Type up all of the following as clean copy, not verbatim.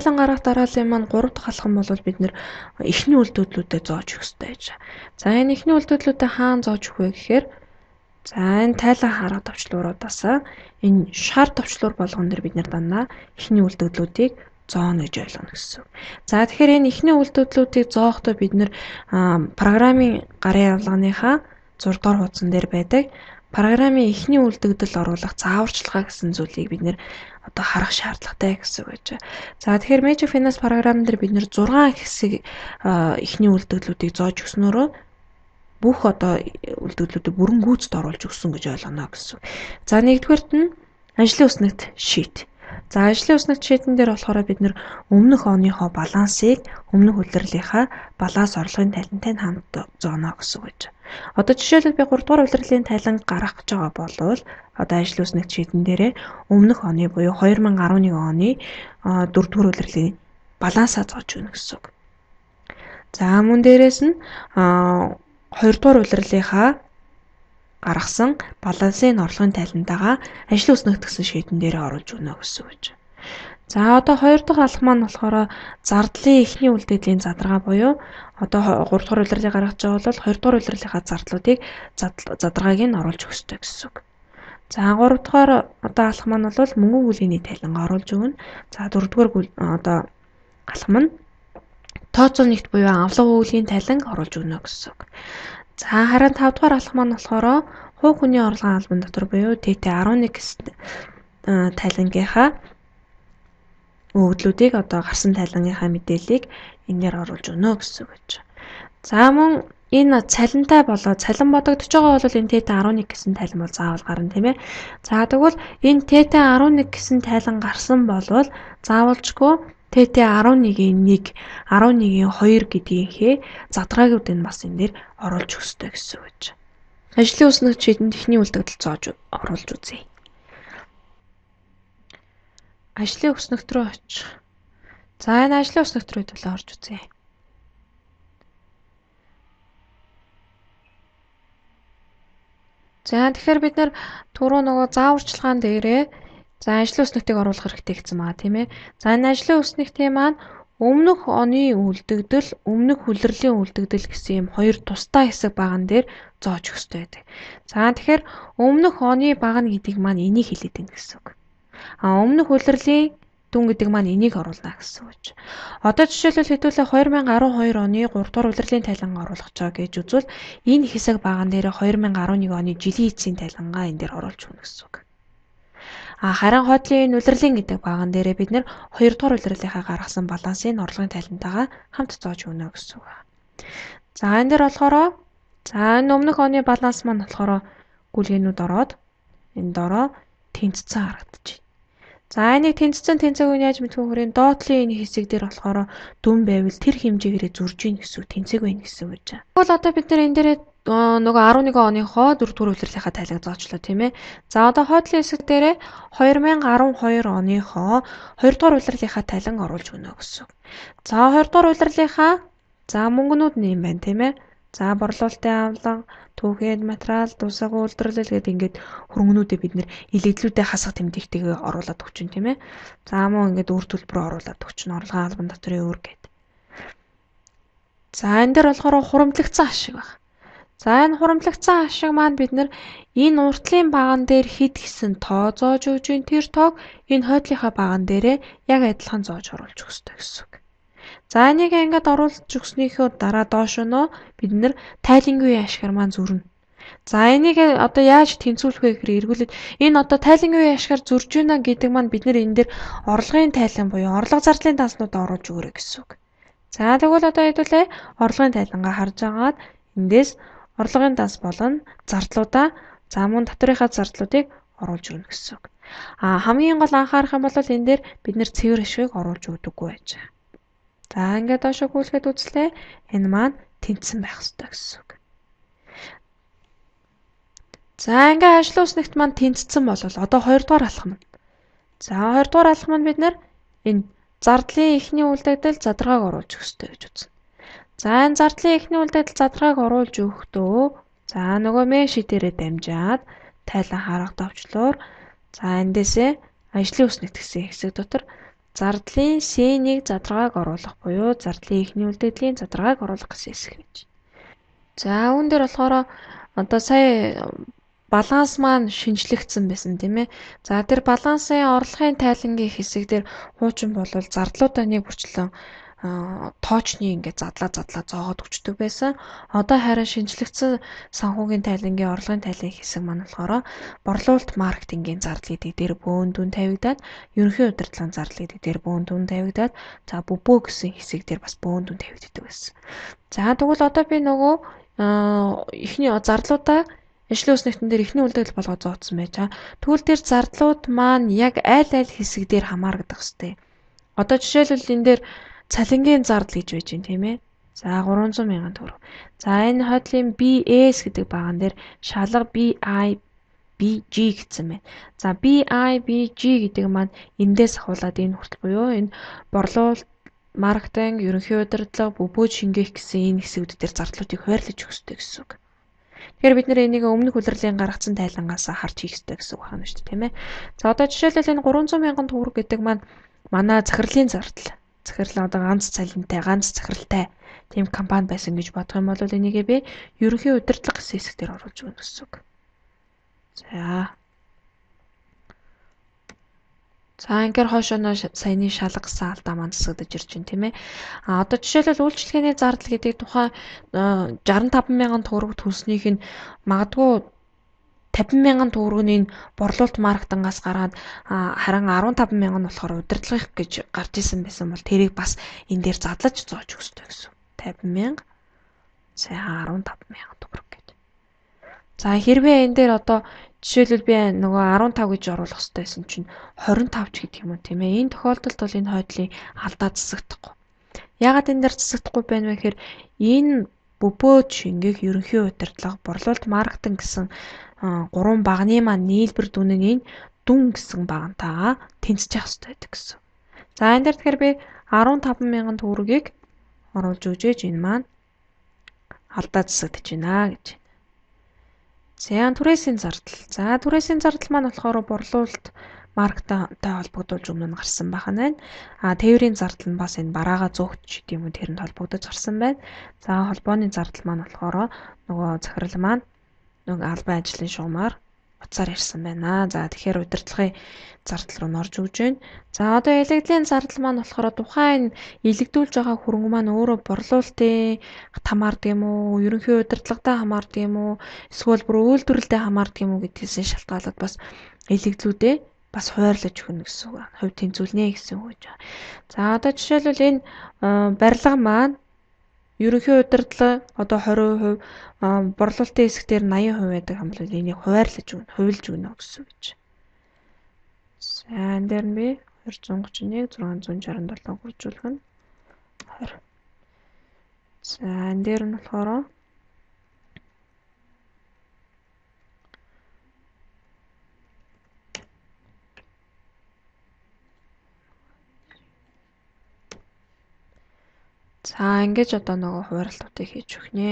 тайлан гарах дарааллын маань 3 дахь алхам бол бид нэр эхний үйлдвэрлэлүүдэд зоож өгөх ёстой гэж. За энэ эхний үйлдвэрлэлүүдэд хаана зоож өгөх вэ гэхээр за энэ тайлан харах товчлууруудаас энэ шар товчлуур болгон дээр бид нэр дандаа эхний үйлдвэрлэлүүдийг зооно гэж ойлгоно гэсэн. За тэгэхээр энэ эхний үйлдвэрлэлүүдийг зоохдоо бид нэр программын гарын явуулганыхаа 6 дугаар хуудсан дээр байдаг программын эхний үйлдвэрлэл оруулах зааварчилгаа гэсэн зүйлийг бид нэр одоо харах шаардлагатай гэсэн үг гэж. За тэгэхээр Magic Finance програм дээр бид нэр 6 хэсэг эхний үйлдвэрлэлүүдийг зоож өгснөөрөө бүх одоо үйлдвэрлэлүүдийг бүрэн гүйцэд оруулж өгсөн гэж ойлгоно гэсэн. За нэгдүгээрт нь ажлын үснэгт шийт. За ажлын үснэгт шийдэн дээр болохоор бид нэр өмнөх оныхоо балансыг өмнөх улирлынхаа баланс орлогын тайлантай хамт зооно гэсэн үг гэж. Одоо жишээлбэл би 3 дугаар улирлын тайлан гаргах гэж байгаа бол одоо ажлын үснэгт шийдэн дээрээ өмнөх оны буюу 2011 оны 4 дугаар улирлын балансаа зоож өгнө гэсэн үг. За мөн дээрээс нь 2 дугаар улирлынхаа гаргасан балансын орлогын тайлантайгаа ажлын үснэгт гэсэн шийдэн дээрээ оруулж өгнө гэсэн үг гэж. За одоо 2 дахь алхам маань болохоор зардлын эхний үлдээдлийн задаргаа буюу одоо 3 дугаар улирлыг гаргаж байгаа бол 2 дугаар улирлынхаа зардлуудыг задаргааг нь оруулж өгөх ёстой гэсэн үг. За 3 дугаар одоо алхам маань бол мөнгөн гүлгээний тайлангаа оруулж өгнө. За 4 дугаар одоо алхам нь тооцоо нэгт буюу авлага гүлгийн тайлан оруулж өгнө гэсэн үг. За харин 5 дугаар алхам маань болохоор хувь хүний орлогын албан дотор буюу TT11 гэсэн тайлангийнхаа өгөгдлүүдийг одоо гарсан тайлангийнхаа мэдээллийг энээр оруулж өгнө гэсэн үг гэж. За мөн энэ цалинтай болоо цалин бодогдож байгаа бол энэ TT11 гэсэн тайлан бол заавал гарна тийм ээ. За тэгвэл энэ TT11 гэсэн тайлан гарсан болвол заавалжгүй TT11-ийн 1, 11-ийн 2 гэдгийнхээ задраагууд нь бас энэ дээр оруулж өгөх ёстой гэсэн үг гэж. Ажлын үснэгт шийдэнд эхний үйлдвэрлэл зоож оруулж үзье. Ажлын үснэгт рүү очих. За энэ ажлын үснэгт рүү төлөө орж үзье. За тэгэхээр бид нар түрүү нөгөө зааварчилгаан дээрээ за ажлын үснэгтийг оруулах хэрэгтэй гэсэн байгаа тийм ээ. За энэ ажлын үснэгтийн маань өмнөх оны үлдэгдэл, өмнөх улирлын үлдэгдэл гэсэн юм хоёр тусдаа хэсэг баган дээр зоож өгөх хэрэгтэй байдаг. За тэгэхээр өмнөх оны багна гэдэг маань энийг хэлээд байна гэсэн үг. Өмнөх улирлын дүн гэдэг маань энийг оруулна гэсэн үг. Одоо жишээлбэл хэдүүлээ 2012 оны 3 дугаар улирлын тайлангаа оруулах гэж байгаа гэж үзвэл энэ хэсэг баган дээр 2011 оны жилийн эцсийн тайлангаа энэ дээр оруулж өгнө гэсэн үг. Харин хойдлын улирлын гэдэг баган дээрээ бид нэр 2 дугаар улирлынхаа гаргасан балансын орлогын тайлантайгаа хамт зоож өгнө гэсэн үг. За энэ дээр болохоор за энэ өмнөх оны баланс маань болохоор гүйлгээнүүд ороод энэ дороо тэнцсэн харагдаж байна. За энийг тэнцсэн тэнцээгүй яаж мэдэх вэ гэхээр доотлын энэ хэсэг дээр болохоор дүн байвал тэр хэмжээгээрээ зурж ийн гэсэн үг тэнцээг байна гэсэн үг байна. Тэгвэл одоо бид нэр энэ дээрээ нөгөө 11 оныхоо 4 дугаар улирлынхаа тайлаг зоочлоо тийм ээ. За одоо хойдлын хэсэг дээрээ 2012 оныхоо 2 дугаар улирлынхаа тайлан оруулж өгнө гэсэн үг. За 2 дугаар улирлынхаа за мөнгөнүүд нь юм байна тийм ээ. За борлуулалтын авлага, түүхэд материал, дусаг үйлдвэрлэл гэдэг ингээд хөрөнгөнүүдээ бид нэр илэгдлүүдээ хасах тэмдэгтэйгээ оруулаад өгч юм тийм ээ. За мөн ингээд үр төлбөрөөр оруулаад өгч нь орлогын албан доторын өөр гэдэг. За энэ дээр болохоор хуримтлагдсан ашиг байна. За энэ хуримтлагдсан ашиг маань бид нэр энэ уртлын баган дээр хэд гэсэн тоо зоож өгж ин тэр тоог энэ хойдлынхаа баган дээрээ яг адилхан зоож оруулж өгөх ёстой гэсэн үг. За энийг ингээд оруулж өгснөхийн дараа доош нөө бид нэр тайлангийн ашгаар маань зүрнэ. За энийг одоо яаж тэнцвүүлэх вэ гэхээр эргүүлээд энэ одоо тайлангийн ашгаар зурж байна гэдэг маань бид нэр энэ дээр орлогын тайлан буюу орлого зардлын данснуудаа оруулж өгөрэй гэсэн үг. За тэгвэл одоо хэдүүлээ орлогын тайлангаа харж агаад эндээс орлогын данс болон зардлуудаа за мөн татврынхаа зардлуудыг оруулж өгнө гэсэн үг. Хамгийн гол анхаарах юм бол энэ дээр бид нэр цэвэр ашгийг оруулж өгдөггүй байж. За ингээд доошо гүйлгээд үзлээ. Энэ маань тэнцсэн байх ёстой гэсэн үг. За ингээд ажлын үснэгт маань тэнцсэн бол одоо 2 дугаар алхам нь. За 2 дугаар алхам нь бид нэр энэ зардлын эхний үлдэгдэл задрагааг оруулж өгөх ёстой гэж үзнэ. За энэ зардлын эхний үлдэгдэл задрагааг оруулж өгөхдөө за нөгөө меши дээрээ дамжаад тайлан харах товчлуур за эндээсээ ажлын үснэгт гэсэн хэсэг дотор зардлын C-ийг задрагааг оруулах буюу зардлын эхний үлдэгдлийн задрагааг оруулах гэсэн хэсэг байж. За үүн дээр болохоор одоо сая баланс маань шинжлэгдсэн байсан тийм ээ. За тэр балансын орлогын тайлангийн хэсэг дээр хуучин болвол зардлуудаа нэг бүрчлэн тоочны ингээд задлаа зоогоод өчтдөг байсан. Одоо харин шинжлэгдсэн санхүүгийн тайлангийн орлогын тайлангийн хэсэг маань болохоор борлуулалт маркетингийн зардал гэдэг дээр бөөн дүн тавигдаад, ерөнхий удирдлагын зардал гэдэг дээр бөөн дүн тавигдаад, за бөбөө гэсэн хэсэг дээр бас бөөн дүн тавигддаг байсан. За тэгвэл одоо би нөгөө эхний зардлуудаа ажлын үснэгтэн дээр эхний үлдэгдэл болгоод зооцсон байж байгаа. Тэгвэл тэр зардлууд маань яг аль хэсэг дээр хамаардаг хэвчтэй. Одоо жишээлбэл энэ дээр цалингийн зардал гэж байж байна тийм ээ. За 300 мянган төгрөг. За энэ хойдлын BS гэдэг баган дээр шалга BIBG гэсэн байна. За BIBG гэдэг маань эндээс ахуулаад энэ хүртэл буюу энэ борлуулалт, маркетинг, ерөнхий удирдлага, бөбөөж шингээх гэсэн энэ хэсгүүд дээр зардлуудыг хуваарлаж өгөх ёстой гэсэн үг. Тэгэхээр бид нэр энийг өмнөх улирлын гаргацсан тайлангаас харж хийх ёстой гэсэн үг байна шүү дээ, тийм ээ. За одоо жишээлбэл энэ 300 мянган төгрөг гэдэг маань манай захирлын зардал. Захирал одоо ганц цалинтай, ганц захиралтай тийм компани байсан гэж бодох юм бол энийгээ би ерөнхий удирдлага гэсэн хэсгээр оруулж өгнө гэсэн үг. За ингээд хойшооноо саяны шалгасан алдаа маань засагдаж ирж байна тийм ээ. Одоо жишээлбэл үйлчлэгээний зардал гэдэг тухайн 65 мянган төгрөг төлснийх нь магадгүй 50 мянган төгрөгийн борлуулалт маркетингаас гараад харин 15 мянган нь болохоор удирдлагын гэж гарч исэн байсан бол тэрийг бас энэ дээр задлаж зоож өгөх ёстой гэсэн. 50 мянга сайхан 15 мянган төгрөг гэж. За хэрвээ энэ дээр одоо жишээлбэл би нөгөө 15 гэж оруулах ёстой байсан чинь 25 ч гэдэг юм уу тийм ээ. Энэ тохиолдолд бол энэ хойдлын алдаа засагдахгүй. Яагаад энэ дээр засагдахгүй байна вэ гэхээр энэ бөбөөж шингээх ерөнхий удирдлага, борлуулалт маркетинг гэсэн гурван багны маань нийлбэр дүнэг энэ дүн гэсэн багантайгаа тэнцэж явах хэрэгтэй байдаг гэсэн. За энэ дээр тэгэхээр би 15 мянган төгрөгийг оруулж өгчээж энэ маань алдаа засагдаж байна гэж. За түрээсийн зардал. За түрээсийн зардал маань болохоор борлуулалт маркетингтэй холбогдуулж өмнө нь гарсан байна. Тээврийн зардал нь бас энэ бараага зөөгч гэдэг юм уу тэрэнд холбогдож гарсан байна. За холбооны зардал маань болохоор нөгөө захирал маань нөгөө албан ажлын шугамар утсаар ирсэн байна. За тэгэхээр удирдлагын зардал руу норж өгж байна. За одоо илэгдлийн зардал маань болохоор тухайн илэгдүүлж байгаа хөрөнгө маань өөрөө борлуулалтын хамаардаг юм уу, ерөнхий удирдлагатай хамаардаг юм уу, эсвэл бүр үйлдвэрлэлтэй хамаардаг юм уу гэдгээс шалтгаалаад бас илэгдлүүдээ бас хуваарлаж өгнө гэсэн үг. Хувь тэнцвүүлнэ гэсэн үг гэж байна. За одоо жишээлбэл энэ барилга маань ерөнхий удирдлага одоо 20%, борлуулалтын хэсгээр 80% байдаг юм бол энийг хуваарлаж өгнө, хувилж өгнө гэсэн үг гэж. За энэ дээр нь би 231 667 хуржуулах нь 20. За энэ дээр нь болохоор за ингэж одоо нөгөө хуваарлтуудыг хийж өгөх нэ.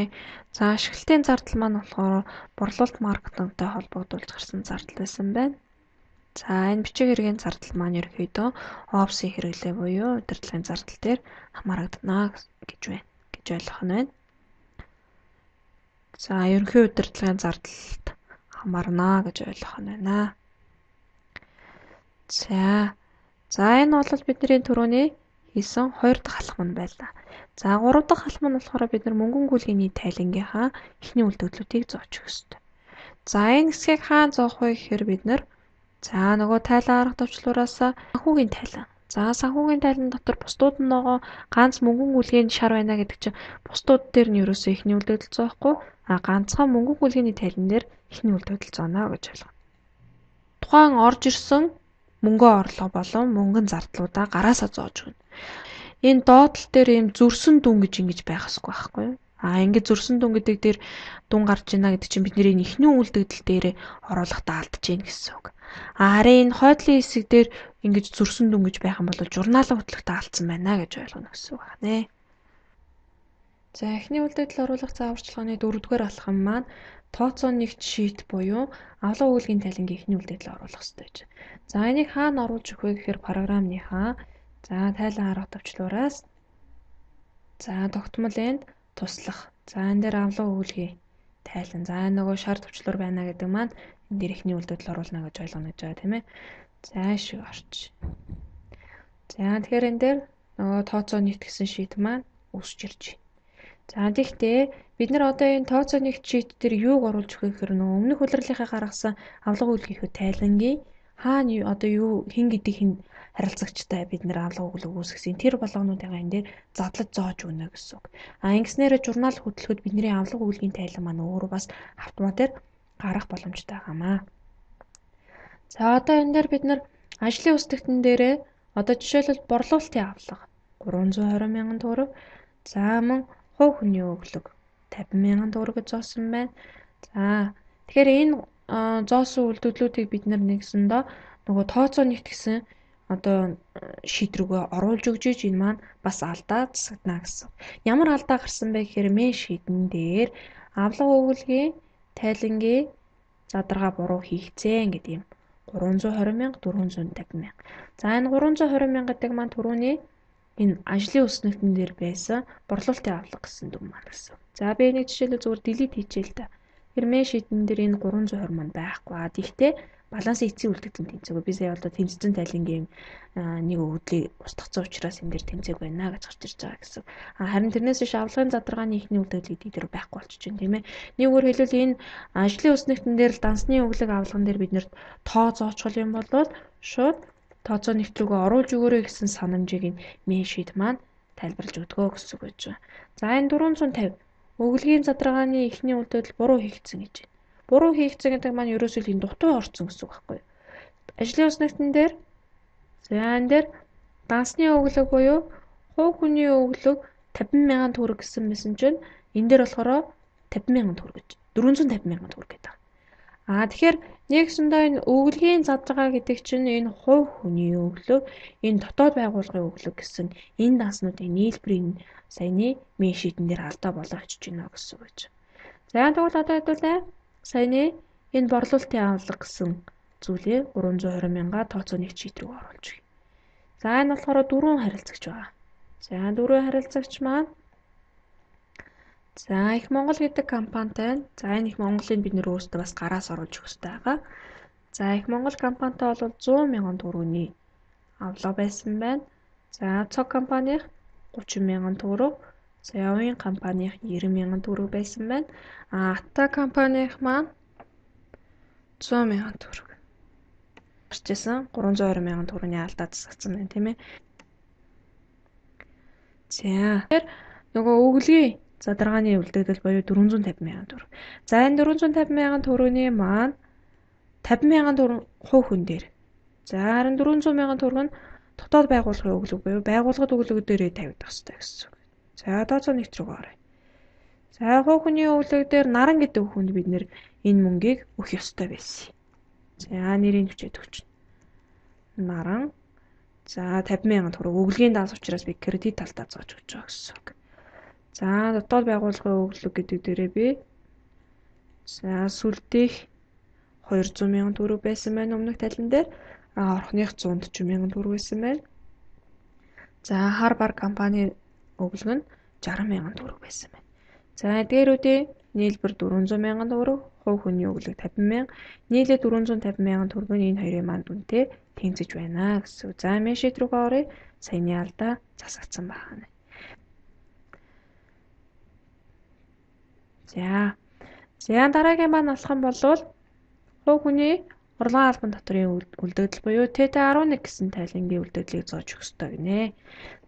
За ашиглалтын зардал маань болохоор борлуулалт маркетингтэй холбогдуулж гарсан зардал байсан байна. За энэ бичиг хэргийн зардал маань ерөөхдөө опси хэрэглээ буюу удирдлагын зардал дээр хамаарагдана гэж байна. Гэж ойлгох нь байна. За ерөнхий удирдлагын зардалд хамаарна гэж ойлгох нь байна. За энэ бол бидний түрүүний хийсэн 2 дахь алхам нь байлаа. За 3 дахь алхам нь болохоор бид нар мөнгөн гүйлгээний тайлангийнхаа эхний үлдэгдлүүдийг зоож өгөх ёстой. За энэ хэсгийг хаана зоох вэ гэхээр бид нар за нөгөө тайлан арга товчлуураас санхүүгийн тайлан. За санхүүгийн тайлан дотор бусдууд нь нөгөө ганц мөнгөн гүйлгээний шар байна гэдэг чинь бусдууд дээр нь ерөөсөө эхний үлдэгдэл зоохгүй ганцхан мөнгөн гүйлгээний тайлан дээр эхний үлдэгдэл зооно гэж ойлгоно. Тухайн орж ирсэн мөнгөө орлого болон мөнгөн зардлуудаа гараасаа зоож өгнө. Энэ доотлол дээр ийм зөрсөн дүн гэж ингэж байх ёсгүй байхгүй юу? Ингээд зөрсөн дүн гэдэг дээр дүн гарч ийна гэдэг чинь бидний эхний үлдэгдэл дээр оруулахдаа алдаж гин гэсэн үг. Харин энэ хойдлын хэсэг дээр ингэж зөрсөн дүн гэж байх юм бол журналын хөтлөгтөө алдсан байна гэж ойлгоно гэсэн үг байна. За эхний үлдэгдэл оруулах зааварчилгааны 4-р алхам маань тооцоо нэгт шийт буюу авлага үйлгийн тайлангийн эхний үлдэгдэл оруулах хэрэгтэй гэж. За энийг хаана оруулж өгөх вэ гэхээр програмныхаа За тайлан арга төвчлөөраас за тогтмол энд туслах. За энэ дээр авлага өгүүлгий тайлан. За нөгөө шар төвчлөр байна гэдэг маань энэ дээр ихний үлдэгдэл оруулна гэж ойлгоно гэж байгаа тийм ээ. За шиг орч. За тэгэхээр энэ дээр нөгөө тооцоо нийт гэсэн шийд маань үүсч ирж байна. За тэгтээ бид нар одоо энэ тооцоо нийт шийд дээр юуг оруулж өгөх гэхээр нөгөө өмнөх улирлынхаа гаргасан авлага өгүүлгийнхөө тайлангийн хаана одоо юу хин гэдэг хин харилцагчтай бид нэр авлага өгүүлэг үүсгэсэн тэр болгоонуудыгаа энэ дээр задлаж зоож өгнө гэсэн үг. Ингэснээр журнал хөтлөхөд бидний авлага өгүүлгийн тайлан маань өөрөө бас автоматар гарах боломжтой байгаамаа. За одоо энэ дээр бид нар ажлын үстэгтэн дээрээ одоо жишээлбэл борлуулалтын авлага 320 мянган төгрөг. За мөн хувь хүний өглөг 50 мянган төгрөг гэж зоосон байна. За тэгэхээр энэ зоосон үйлдвэрлэлүүдийг бид нар нэгсэндээ нөгөө тооцоо нийт гэсэн одоо шийд рүүгээ оруулж өгч энэ маань бас алдаа засагдана гэсэн. Ямар алдаа гарсан бэ гэхээр мэн шийдэн дээр авлага өгүүлгийн тайлангийн задаргаа буруу хийгцэн гэдэг юм. 320 мянга 450 мянга. За энэ 320 мянга гэдэг маань түрүүний энэ ажлын үснэгтэн дээр байсан борлуулалтын авлага гэсэн дүн маань гэсэн. За би нэг жишээлбэл зүгээр delete хийчихээ л да. Хэрмээ шийдэн дээр энэ 320 маань байхгүй. Гэхдээ балансын эцсийн үлдэгдэл тэнцээгүй. Би сая одоо тэнцсэн тайлангийн нэг өгдлийг устгацсан учраас энэ дээр тэнцээг байна гэж гарч ирж байгаа гэсэн. Харин тэрнээс биш авлагын задаргааны ихний үлдэгдлийг дээр байхгүй болчих чинь тийм ээ. Нэг өөр хэлбэл энэ ажлын үснэгтэн дээр л дансны өглөг авлагын дээр бид нэр тоо зоочхол юм бол шууд тооцоо нэгт рүүгээ оруулж өгөөрэй гэсэн санамжийг энэ мен шийд маань тайлбарлаж өгдөгөө гэсэн үг байж байгаа. За энэ 450 өглөгийн задаргааны ихний үлдэгдэл буруу хийгдсэн гэж байна. Буруу хийгдсэн гэдэг маань ерөөсөө л энэ дутуу орсон гэсэн үг байхгүй юу? Ажлын үснэгтэн дээр за энэ дээр дансны өглөг буюу хувь хүний өглөг 50 мянган төгрөг гэсэн мэсэн чинь энэ дээр болохоор 50 мянган төгрөг гэж 450 мянган төгрөг гэдэг. Тэгэхээр нэгсэндээ энэ өглөгийн задаргаа гэдэг чинь энэ хувь хүний өглөг, энэ дотоод байгууллагын өглөг гэсэн энэ данснуудын нийлбэрийн саяны мен шийдэн дээр алдаа болгож байна гэсэн үг гэж. За тэгвэл одоо хэдүүлээ саяны энэ борлуулалтын авлага гэсэн зүйлээ 320 мянга тооцоо нэг шийд рүү оруулж өгье. За энэ болохоор дөрвөн харилцагч байгаа. За дөрвөн харилцагч маань за Их Монгол гэдэг компанитай. За энэ Их Монголыг бид нэр өөрсдөө бас гараас оруулж өгөх хэрэгтэй байгаа. За Их Монгол компанитай бол 100 мянган төгрөгийн авлага байсан байна. За цог компанийн 30 мянган төгрөг. За явын компанийн 90 мянган төгрөг байсан байна. Ата компанийн маань 100 мянган төгрөг. Гарчсан 320 мянган төгрөгийн алдаа засагдсан байна тийм ээ. За тэгэхээр нөгөө өглөгийн задаргааны үлдэгдэл буюу 450 мянган төгрөг. За энэ 450 мянган төгрөгийн маань 50 мянган төгрөг хувь хүн дээр. За харин 400 мянган төгрөг нь дотоод байгууллагын өглөг буюу байгууллагад өглөг дээрээ тавигдах хэрэгтэй гэсэн үг. За тооцоо нэгт рүү оръё. За хувь хүний өглөг дээр наран гэдэг хүнд бид нэр энэ мөнгийг өгөх ёстой байсан. За нэрийг хүчээд өгч. Наран. За 50 мянган төгрөг өглөгийн данс учраас би кредит талдаа зоож өгч байгаа гэсэн үг. За дотоод байгууллагын өглөг гэдэг дээрээ би за сүлдэх 200 мянган төгрөг байсан байна өмнөх тайлан дээр. Орхных 140 мянган төгрөг байсан байна. За хар бар компани өглөг нь 60 мянган төгрөг байсан байна. За дээрүүдийн нийлбэр 400 мянган төгрөг, хувь хүний өглөг 50 мянга, нийлээ 450 мянган төгрөг нь энэ хоёрын маань дүнтэй тэнцэж байна гэсэн. За мен шийд рүүгээ оръё. Саяны алдаа засагдсан байна. За дараагийн маань болох юм бол хувь хүний урлагийн албан татврын үлдэгдэл буюу ТТ11 гэсэн тайлангийн үлдэгдлийг зоож өгөх ёстой гинэ.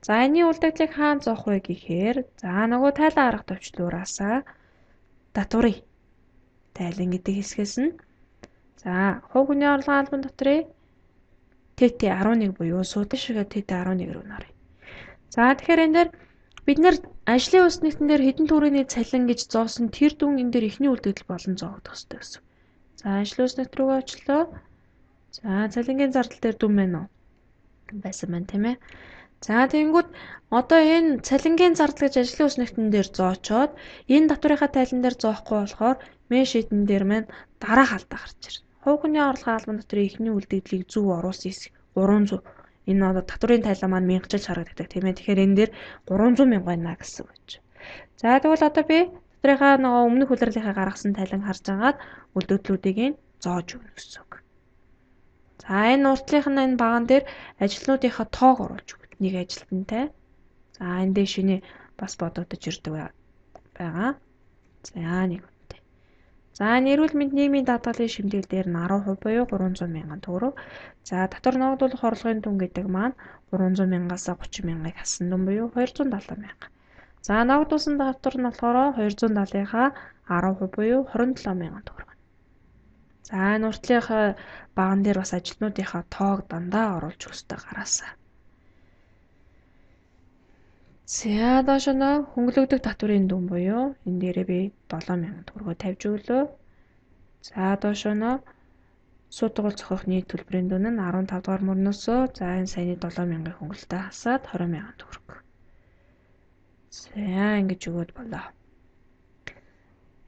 За энэний үлдэгдлийг хаана зоох вэ гэхээр за нөгөө тайлан арга төвчлөөраасаа татврын тайлан гэдэг хэсгээс нь за хувь хүний урлагийн албан татврын ТТ11 буюу суудлын шигээ ТТ11 рүү нөрье. За тэгэхээр энэ дээр бид нэр ажлын үснэгтэн дээр хэдэн төгрөгийн цалин гэж зоосон тэр дүн энэ дээр ихний үлдэгдэл болон зоогдох ёстой гэсэн. За ажлын үснэгт рүүгээ очлоо. За цалингийн зардал дээр дүн байна уу? Байсан байна тийм ээ. За тэгэнгүүт одоо энэ цалингийн зардал гэж ажлын үснэгтэн дээр зоочоод энэ татврынхаа тайлан дээр зоохгүй болохоор мен шийдэн дээр маань дараах алдаа гарч ирнэ. Хувь хүний орлогын албан татврын ихний үлдэгдлийг зөв оруулсан хэсэг 300 Энэ одоо татврын тайлан маань мянгачилж харагддаг тийм ээ. Тэгэхээр энэ дээр 300 мянга байна гэсэн үг гэж. За тэгвэл одоо би татрынхаа нөгөө өмнөх улирлынхаа гаргасан тайлан харж агаад үлдэгдлүүдийг нь зоож өгнө гэсэн үг. За энэ уртлынх нь энэ баган дээр ажилтнуудынхаа тоог оруулж өгнө. Нэг ажилтнтай. За энэ дээр шинэ бас бодогдож ирдэг байгаа. За нэг үнэтэй. За эрүүл мэнд нийгмийн даатгалын шимтгэл дээр нь 10% буюу 300 мянган төгрөг. За татвар ногдуулах орлогын түн гэдэг маань 300 мянгаас 30 мянгыг хассан дүн буюу 270 мянга. За ногдуулсан татвар нь болохоор 270-ийнхаа 10% буюу 27 мянган төгрөг. За энэ уртлынх баган дээр бас ажилтнуудынхаа тоог дандаа оруулж өгөх ёстой гараасаа. За доош нь хөнгөлөгдөх татврын дүн буюу энэ дээрээ би 7 мянган төгрөгөөр тавьж өглөө. За доош нь суу тугуул зохиох нийт төлбөрийн дүн нь 15 дугаар мөрнөөс за энэ саяны 7 мянган хөнгөлөлтөд хасаад 20 мянган төгрөг. За ингэж өгөөд болоо.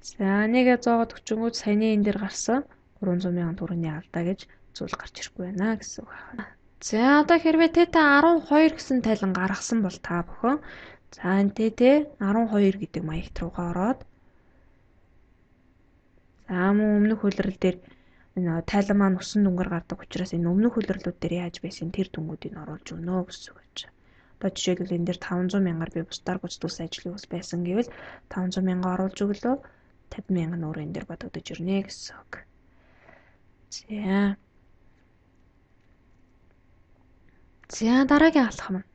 За нэгэ зоогод өчнгүүд саяны энэ дээр гарсан 300 мянган төгрөгийн алдаа гэж зүйл гарч ирэхгүй байна гэсэн үг байна. За одоо хэрвээ ТТ 12 гэсэн тайлан гаргасан бол та бүхэн за энэ ТТ 12 гэдэг маягт руугаа ороод за мөн өмнөх хөлрөл дээр энэ тайлан маань усан дүнгээр гардаг учраас энэ өмнөх хөлрөлүүд дээр яаж байсан тэр дүнгуудыг оруулж өгнө гэсэн үг гэж. Одоо жишээлбэл энэ дээр 500 мянгаар би бусдаар гүйцэтгүүлсэн ажлыг ус байсан гэвэл 500 мянга оруулж өглөө 50 мянган өөр энэ дээр бодогдож ирнэ гэсэн үг. За дараагийн алхам нь.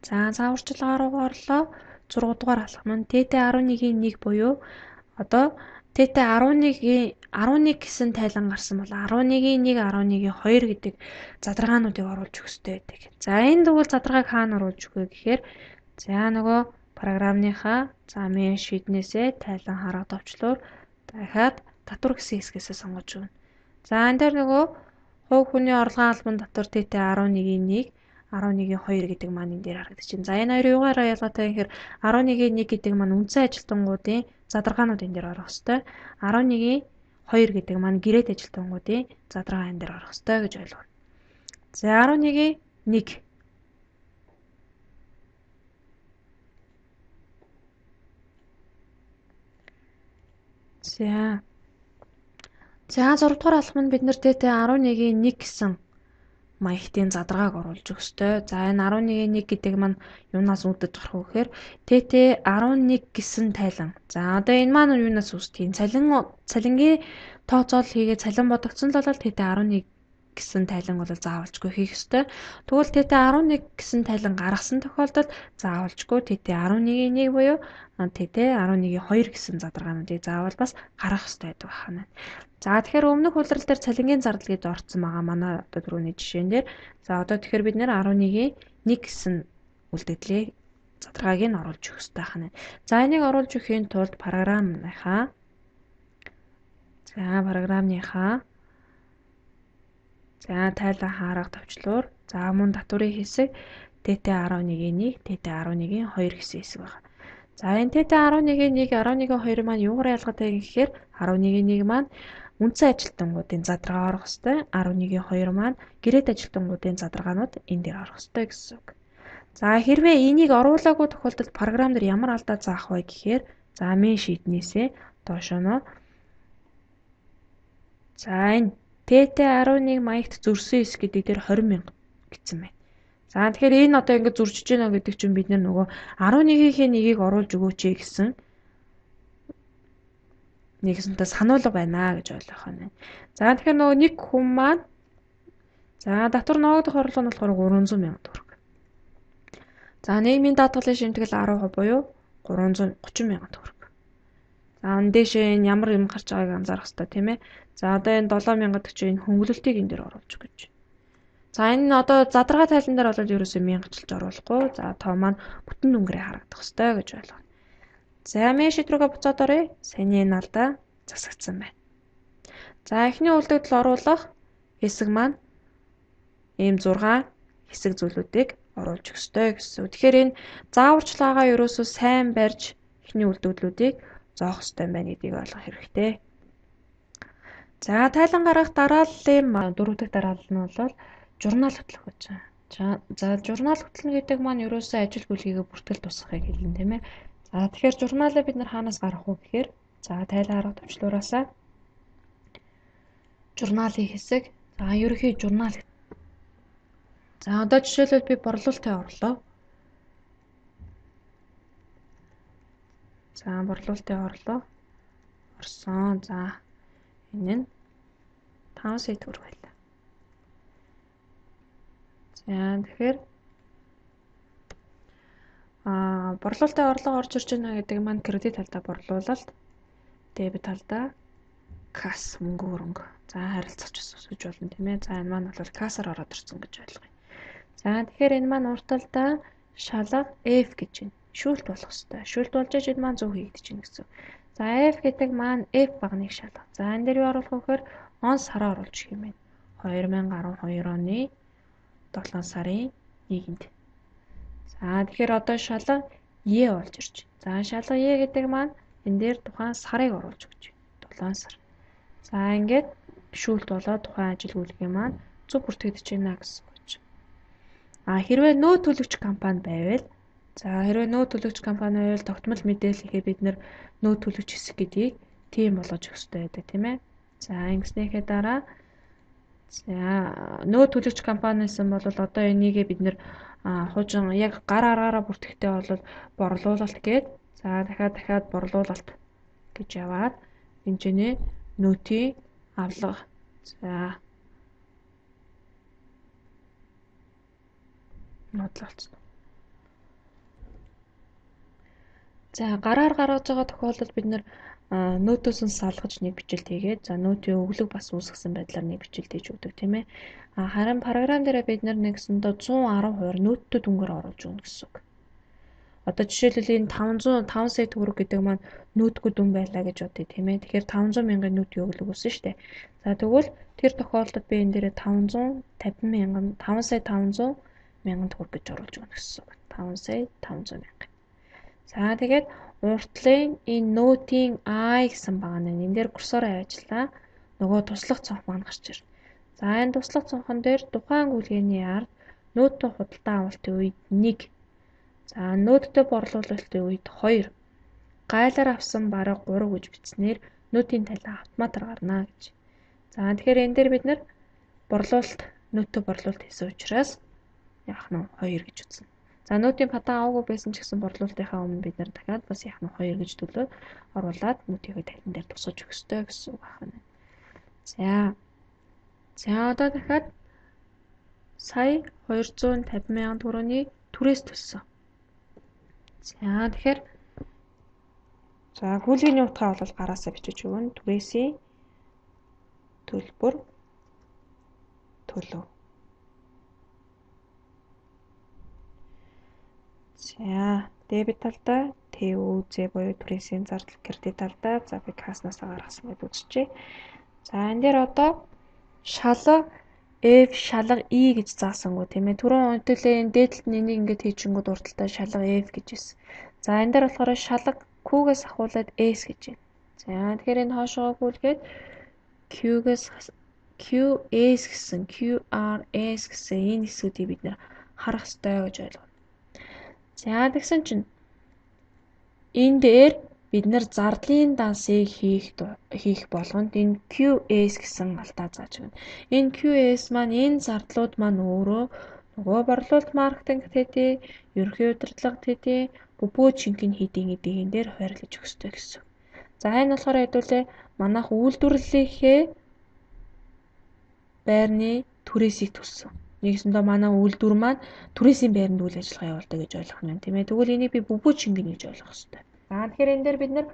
За зааварчилгаа руу орлоо. 6 дугаар алхам нь ТТ 11-ийн 1 буюу одоо ТТ 11 гэсэн тайлан гарсан бол 11-ийн 1, 11-ийн 2 гэдэг задрагаануудыг оруулж өгөх хэрэгтэй байдаг. За энэ тэгвэл задрагааг хаана оруулж өгөх вэ гэхээр за нөгөө програмныхаа за main sheet-нээсээ тайлан хараа товчлуур дахиад татвар гэсэн хэсгээс сонгож өгнө. За энэ дээр нөгөө хувь хүний орлогын албан татвар ТТ 11-ийн 1, 11-ийн 2 гэдэг маань энэ дээр харагдаж байна. За энэ хоёрын юугаараа ялгаатай гэхээр 11-ийн 1 гэдэг маань үндсэн ажилтнуудын задрагаанууд энэ дээр орох ёстой. 11-ийн 2 гэдэг маань гэрээт ажилтнуудын задрагаа энэ дээр орох ёстой гэж ойлгоно. За 11-ийн 1 За 6 дугаар алхам нь бид нэр ТТ 11-ийн 1 гэсэн маягтын задрагааг оруулж өгөх ёстой. За энэ 11-ийн 1 гэдэг маань юунаас үүдэж гарах вэ гэхээр ТТ 11 гэсэн тайлан. За одоо энэ маань юунаас үүсдэг? Цалингийн тооцоол хийгээд цалин бодогдсон л бол ТТ 11 гэсэн тайлан бол заавалжгүй хийх ёстой. Тэгвэл ТТ 11 гэсэн тайлан гаргасан тохиолдолд заавалжгүй ТТ 11-ийн 1 буюу ТТ 11-ийн 2 гэсэн задрагаануудыг заавал бас гаргах ёстой байдаг байна. За тэгэхээр өмнөх хуулирал дээр цалингийн зардал гэж орцсон байгаа манай одоо түрүүний жишээн дээр. За одоо тэгэхээр бид нэр 11-ийн 1 гэсэн үлдэгдлийг задрагааг нь оруулж өгөх ёстой байна. За энийг оруулж өхийн тулд програмныхаа тайлан хаарга товчлуур за мөн татврын хэсэг ТТ 11-ийн 1, ТТ 11-ийн 2 гэсэн хэсэг байна. За энэ ТТ 11-ийн 1, 11-ийн 2 маань юугаар ялгаатай гэхээр 11-ийн 1 маань үндсэн ажилтнуудын задрагаа орох ёстой. 11-ийн 2 маань гэрээт ажилтнуудын задрагаанууд энэ дээр орох ёстой гэсэн үг. За хэрвээ энийг оруулаагүй тохиолдолд програм дээр ямар алдаа заах вэ гэхээр за main sheet-нээсээ доошоо за энэ ТТ 11 маягт зөрсөн хэсэг гэдэг дээр 20 мянга гэсэн байна. За тэгэхээр энэ одоо ингэ зурчиж байна гэдэг чинь бид нөгөө 11-ийн 1-ийг оруулж өгөөч гэсэн нэгсэнтэй сануулга байна гэж ойлгох байна. За тэгэхээр нөгөө нэг хүн маань за татвар ногдох орлого нь болохоор 300 мянга төгрөг. За нийгмийн даатгалын шимтгэл 10% буюу 330 мянга төгрөг. За энэ дэшээ энэ ямар юм гарч байгааг анзаарах хэрэгтэй тийм ээ. За одоо энэ 7 мянгад гэж энэ хөнгөлөлтийг энэ дээр оруулж өгч. За энэ одоо задрагаа тайлан дээр бол ерөөсөө мянгачилж оруулахгүй. За тоо маань бүтэн дүнгээрээ харагдах хэрэгтэй гэж ойлгоо. За main sheet руугаа буцаад оръё. Саяны энэ алдаа засагдсан байна. За эхний үлдэгдэл оруулах хэсэг маань ийм 6 хэсэг зүйлүүдийг оруулж өгөх ёстой гэсэн. Тэгэхээр энэ зааварчилгаагаа ерөөсөө сайн барьж эхний үлдэгдлүүдийг зоох ёстой байна гэдгийг ойлгох хэрэгтэй. За тайлан гаргах дарааллын 4 дахь дараалал нь бол журнал хөтлөх гэж байна. За журнал хөтлөнө гэдэг маань ерөөсөө ажил бүлгийгээ бүртгэл тусгахыг хэлнэ тийм ээ. За тэгэхээр журналаа бид нар хаанаас гаргах вэ гэхээр за тайлан арга төвчлуураасаа журналын хэсэг. За ерөнхий журнал. За одоо жишээлбэл би борлуулалтад орлоо. За борлуулалтад орлоо. Орсон. За энэ нь 5 сая төгрөг байлаа. За тэгэхээр борлуулалтын орлого орж ирж байна гэдэг маань кредит талдаа борлуулалт, дебет талдаа касс мөнгө хөрөнгө. За харилцагч өсөж болно тийм ээ. За энэ маань бол кассаар ороод ирсэн гэж ойлгоё. За тэгэхээр энэ маань урт талдаа шалга F гэж байна. Шүүлт болох хэвээр. Шүүлт болж иж энэ маань зөв хийгдэж байна гэсэн. За F гэдэг маань F багныг шалга. За энэ дээр юу оруулах вэ гэхээр он сараа оруулж өгөх юм байна. 2012 оны 7 сарын 1-нд. За тэгэхээр одоо шалга Е болж ирж байна. За шалга Е гэдэг маань энэ дээр тухайн сарыг оруулж өгч байна. 7 сар. За ингээд шүүлт болоод тухайн ажил үйлгийн маань зөв бүртгэгдэж байна гэсэн үг. Хэрвээ нөө төлөгч компани байвал хэрвээ нөө төлөгч компани байвал тогтмол мэдээллийнхээ бид нэр нөө төлөгч хэсэг гэдгийг тийм болгож өгөх хэрэгтэй байдаг тийм ээ. За ингэснийхээ дараа нөө төлөгч компанисэн бол одоо энийгээ бид нэр хужин яг гар аргаараа бүртгэхдээ бол борлуулалт гээд дахиад борлуулалт гэж яваад хэмжээний нөөтийн авлага нотлолцсон. За гараар гаргаж байгаа тохиолдолд бид нэр нөөтөөс нь салгаж нэг бичлэлт хийгээд нөөтийн өглөг бас үүсгэсэн байдлаар нэг бичлэлт хийж өгдөг тийм ээ. Харин програм дээр бид нар нэгсэндээ 110% нөөттэй дүнгээр оруулж өгнө гэсэн үг. Одоо жишээлбэл энэ 500 сая төгрөг гэдэг маань нөөтгүй дүн байлаа гэж бодъё тийм ээ. Тэгэхээр 500 мянган нөөтийн өглөг үүсэн шүү дээ. За тэгвэл тэр тохиолдолд би энэ дээрээ 5 сая 500 мянган төгрөг гэж оруулж өгнө гэсэн үг. 5 сая 500 мянга. За тэгээд уртлын энэ нөөтийн I гэсэн баг нь энэ дээр курсороо ажиллаа. Нөгөө туслах цонх маань гарч ирнэ. За энэ туслах цонхон дээр тухайн гүйлгээний ард нөөттэй худалдаа авалтын үед 1. За нөөттэй борлуулалтын үед 2. Гайлаар авсан бараг 3 гэж бичснээр нөөтийн тайлан автоматар гарна гэж. За тэгэхээр энэ дээр бид нэр нөөттэй борлуулалт хийсэн учраас яах нь 2 гэж үзнэ. За нөөтийн патан аваагүй байсан ч гэсэн борлуулалтынхаа өмнө бид нар дахиад бас яах нь 2 гэж төлөө оруулаад нөөтийнхөө тайлан дээр тусгаж өгөх ёстой гэсэн үг байна. За одоо дахиад сая 250 мянган төгрөгийн түрээс төлсөн. За тэгэхээр гүйлгээний утгаа бол гараасаа бичиж өгнө. Түрээсийн төлбөр төлөв. За дебет талдаа ТÜЗ буюу түрээсийн зардал, кредит талдаа би касснасаа гаргасан гэж үзчихье. За энэ дээр одоо шалга F шалга E гэж заасангүй тийм ээ. Түрүүн үнэтлээ энэ дээдлэлт нь энийг ингэж хийчихэнгүүд урталтаа шалга F гэж байсан. За энэ дээр болохоор шалга Q-гээс ахуулаад S гэж байна. За тэгэхээр энэ хоошоо гүйлгээд QS гэсэн QRS гэсэн энэ хэсгүүдийг бид нэр харах ёстой гэж ойлгоно. За тэгсэн чинь энэ дээр бид нар зардлын дансыг хийх болгонд энэ QS гэсэн алдаа зааж байна. Энэ QS маань энэ зардлууд маань өөрөө нөгөө борлуулалт маркетинг төдий, ерөнхий удирдлага төдий, бүбүү жинхэнэ хийдийн эдийн дээр хуваарлаж өгөх ёстой гэсэн. За энэ болохоор хэдүүлээ манайх үйлдвэрлэлийнхээ байрны түрээсийг төлсөн. Нэгсэндээ манай үйлдвэр маань түрээсийн байранд үйл ажиллагаа явуулдаг гэж ойлгох нь тийм ээ. Тэгвэл энийг би бүбүү жинхэнэ гэж ойлгох ёстой. За тэгэхээр энэ дээр бид нар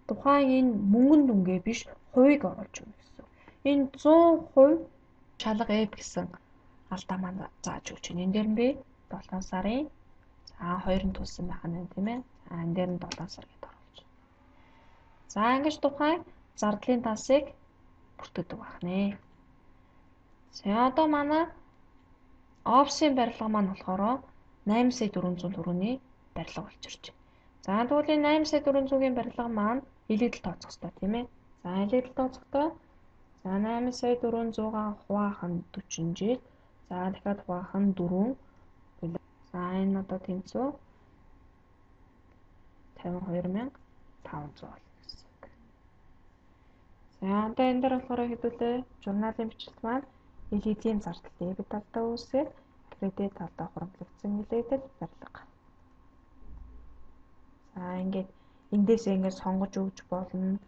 тухайн энэ мөнгөн дүнгээ биш хувийг оруулж өгнө гэсэн. Энэ 100% шалга F гэсэн алдаа маань зааж өгч байна. Энэ дээр нь би 7 сарын 2-нд төлсөн байх нь тийм ээ. Энэ дээр нь 7 сар гэдээ оруулж байна. За ингэж тухайн зардлын дансыг бүртгэдэг байх нэ. За одоо манай опсын барилга маань болохоор 8 сая 400 төгрөгийн барилга болж ирж байна. За тэгвэл энэ 8 сая 400-ийн барилга маань илэгдэл тооцох хэрэгтэй тийм ээ. За илэгдэл тооцохдоо 8 сая 400-аа хуваах нь 40 жил. За дахиад хуваах нь 4 За энэ одоо тэнцүү 52,500 болно гэсэн үг. За одоо энэ дээр болохоор хэдүүлээ журналын бичлэлт маань элизийн зардал дебет талдаа үүсгээд кредит талдаа хуримтлагдсан нэлээдэл барилга. За ингээд эндээсээ ингээд сонгож өгч болно.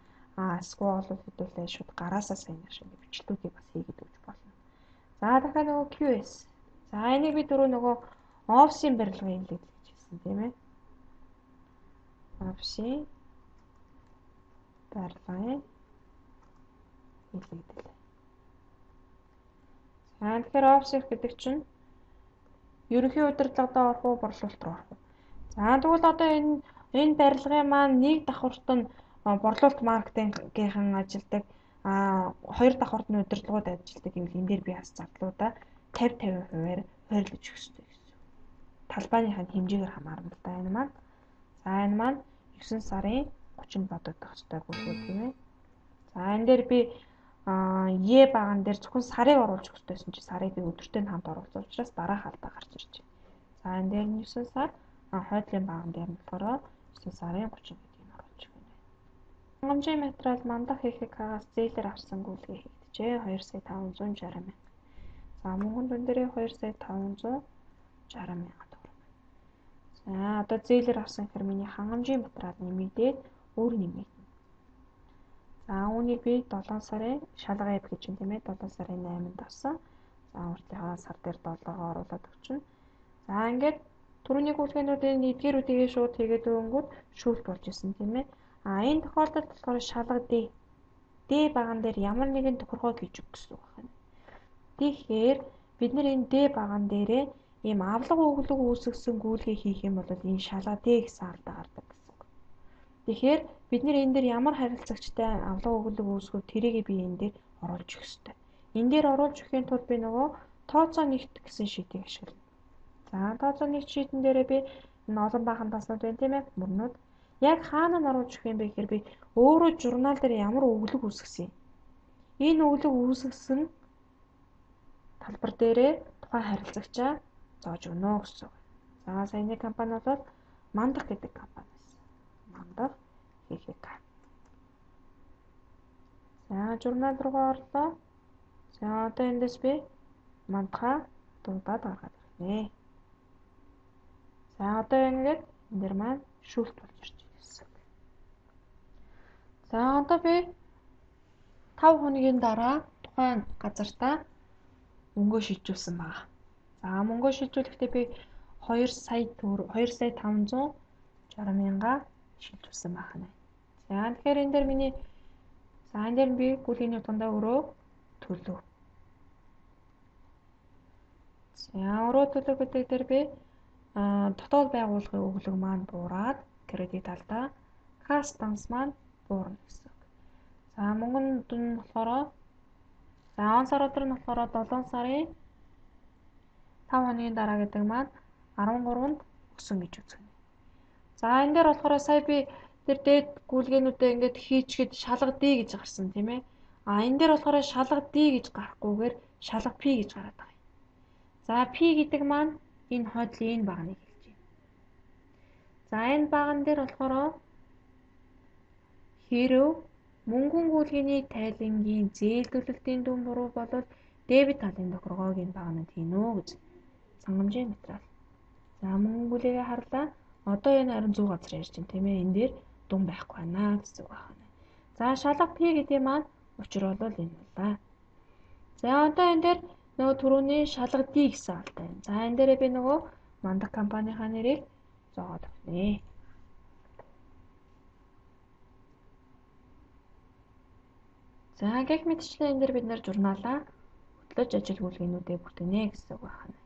Эсвэл хэдүүлээ шууд гараасаа сайн шиг ингээд бичлүүдийг бас хийгээд өгч болно. За дахиад нөгөө QS. За энийг би түрүү нөгөө офсын барилгын хэлээд гэж хэлсэн тийм ээ. Офсын барилгын хэлээд. За тэгэхээр офс гэдэг чинь ерөнхий удирдлагадаа орох уу, борлуулалт руу орох уу? За тэгвэл одоо энэ барилгын маань нэг давхурт нь борлуулалт маркетингийнхан ажилдаг, хоёр давхурт нь удирдлагууд ажилдаг гэвэл энэ дээр би бас зардлуудаа 50-50%-аар хуваарлаж өгөх хэрэгтэй гэсэн. Талбайныхаа хэмжээгээр хамаарна л да энэ маань. За энэ маань 9 сарын 30-нд бодогдох ёстой гүйлгээ тийм ээ. За энэ дээр би Е баган дээр зөвхөн сарыг оруулж өгөх хэрэгтэйсэн чи сарыг би өдөртөө хамт оруулсан учраас дараах алдаа гарч ирж байна. За энэ дээр нь 9 сар хойдлын баган дээр нь болохоор 9 сарын 30 гэдгийг оруулж өгнө. Хангамжийн материал мандах ХХК-аас зээлэр авсан гүйлгээ хийгдэжээ 2,560 мянга. За мөнгөн дүн дээрээ 2,560 мянга төгрөг. За одоо зээлэр авсан гэхээр миний хангамжийн материал нэмэгдээд өөр нэмэгдэнэ. За үүнийг би 7 сарын шалга эд гэж юм тийм ээ 7 сарын 8-нд авсан. За уртынхаа сар дээр 7-гоо оруулаад өгчнө. За ингээд түрүүний гүйлгээнүүдийн эдгээрүүдийг шууд хийгээд өгөнгүүт шүүлт болж исэн тийм ээ. Энэ тохиолдолд болохоор шалга D баган дээр ямар нэгэн тохиргоо хийж өгөх гэсэн үг байна. Тэгэхээр бид нэр энэ D баган дээрээ ийм авлага өглөг үүсгэсэн гүйлгээ хийх юм бол энэ шалга D гэсэн алдаа гардаг гэсэн үг. Тэгэхээр бид нэр энэ дээр ямар харилцагчтай авлага өглөг үүсгэв тэрийг би энэ дээр оруулж өгөх ёстой. Энэ дээр оруулж өгөхийн тулд би нөгөө тооцоо нэгт гэсэн шийдийг ашиглана. За тооцоо нэгт шийдэн дээрээ би энэ олон баахан таснууд байна тийм ээ мөрнүүд. Яг хаана нь оруулж өгөх юм бэ гэхээр би өөрөө журнал дээр ямар өглөг үүсгэсэн юм. Энэ өглөг үүсгэсэн талбар дээрээ тухайн харилцагчаа зоож өгнө гэсэн. За саяны компани бол Мандах гэдэг компани байсан. Мандах ХХК. За журнал руу орлоо. За одоо эндээс би Мандахаа дуудаад гаргаад ирнэ. За одоо ингээд энэ дэр маань шүүлт болж ирж байна гэсэн. За одоо би 5 хоногийн дараа тухайн газартаа мөнгөө шилжүүлсэн байна. За мөнгөө шилжүүлэхдээ би 2,560 мянга шилжүүлсэн байна. За тэгэхээр энэ дээр миний энэ дээр би гүйлгээний утгандаа өрөө төлөв. За өрөө төлөв гэдэг дээр би дотоод байгууллагын өглөг маань буураад кредит талдаа кастомс маань буурна гэсэн. За мөнгөн дүн нь болохоор он сар өдөр нь болохоор 7 сарын 5 хоногийн дараа гэдэг маань 13-нд өсөн гэж үзэгнэ. За энэ дээр болохоор сая би тэр дээд гүйлгээнүүдээ ингээд хийчихэд шалга D гэж гарсан тийм ээ. Энэ дээр болохоор шалга D гэж гарахгүйгээр шалга P гэж гараад байгаа юм. За P гэдэг маань энэ хойдлын энэ багныг хэлж байна. За энэ баган дээр болохоор хэрв мөнгөн гүйлгээний тайлангийн зээлдүүлэлтийн дүн буруу болол дебет талын тохиргоог энэ багнад хийнэ гэж хангамжийн материал. За мөнгөн гүйлгээгээ харлаа. Одоо энэ харин 100 газар ярьж байна тийм ээ. Энэ дээр дүн байхгүй байна гэсэн үг байна. За шалга P гэдэг маань учир бол энэ байна. За одоо энэ дээр нөгөө түрүүний шалга D гэсэн алтай байна. За энэ дээрээ би нөгөө Мандах компанийнхаа нэрийг зооод өгнө. За гэх мэтчлэн энэ дээр бид нэр журналаа хөтлөж ажил гүйлгээнүүдээ бүтэнэ гэсэн үг байна.